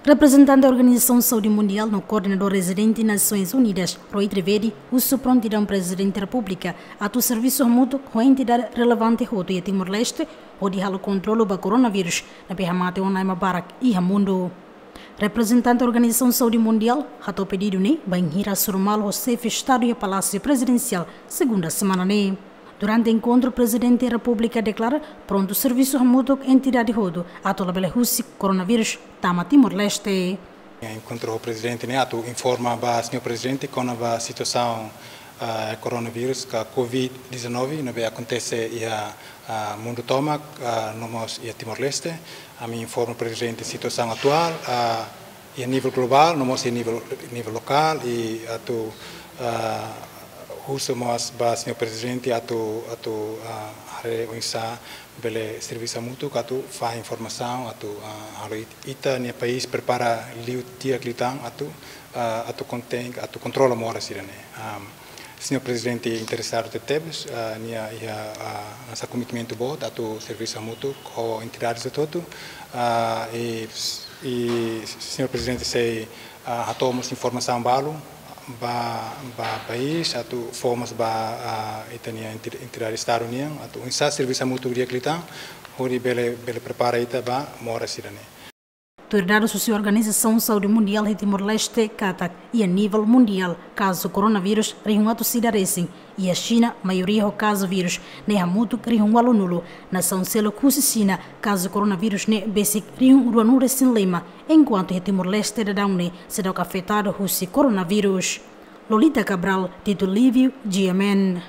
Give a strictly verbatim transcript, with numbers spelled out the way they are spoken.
Reprezentante Organizasaun Saúde Mundiál no Koordenadór Rezidente Nasoins Unidas, Rui Trivedi, husu prontidaun Prezidente Repúblika atu servisu hamutuk ho entidade relevante hotu iha Timor-Leste hodi halo kontrolu ba koronavírus ne'ebé hamate ona ema barak iha mundu. Reprezentante Organizasaun Saúde Mundiál hato'o pedidu ne'e bainhira hasoru malu ho xefe Estadu iha Palásiu Prezidensiál, segunda semana ne'e. Durante enkontru, Prezidente Repúblika deklara prontu servisu hamutuk ho entidade hotu atu labele husik koronavírus tama Timor-Leste. Enkontru ho Prezidente ne'e atu informa ba Señór Prezidente kona-ba situasaun, ah, koronavírus ka covid dezanove ne'ebé akontese iha, ah, mundu tomak, ah, no mós iha Timor-Leste. Ami informa Prezidente situasaun atuál, ah, iha nivel globál, no mós iha nivel, nivel lokál, i atu, ah, husu mós ba Señór Prezidente atu, atu, ah, haree oinsá bele servisu hamutuk atu fahe informasaun atu, ah, halo it-, ita-nia país prepara liu di'ak liután atu, ah, atu konten, atu kontrola moras sira-ne'e. Ah, Señór Prezidente interesadu tebetebes, ah, nia iha, ah, hanesan komitmentu boot atu servisu hamutuk ho entidades hotu-hotu, ah, i, i Señór Prezidente sei, ah, hato'o mós informasaun balu ba, ba país, atu fó mós ba, ah, ita-nia enti-, entidade Estadu nian, atu oinsá servisu hamutuk di'ak liután, hodi bele, bele prepara ita ba moras sira-ne'e. Tuir dadus husi Organizasaun Saúde Mundiál iha Timor-Leste katak iha nivel mundiál kazu koronavírus rihun atus ida resin, iha Xina maioria ho kazu vírus ne'e hamutuk rihun ualunulu, nasaun seluk husi Xina kazu koronavírus ne'e besik rihun ruanulu resin lima, enkuantu iha Timor-Leste daudaun ne'e seidauk afetadu husi koronavírus. Lolita Cabral, Tito Lívio, G M N.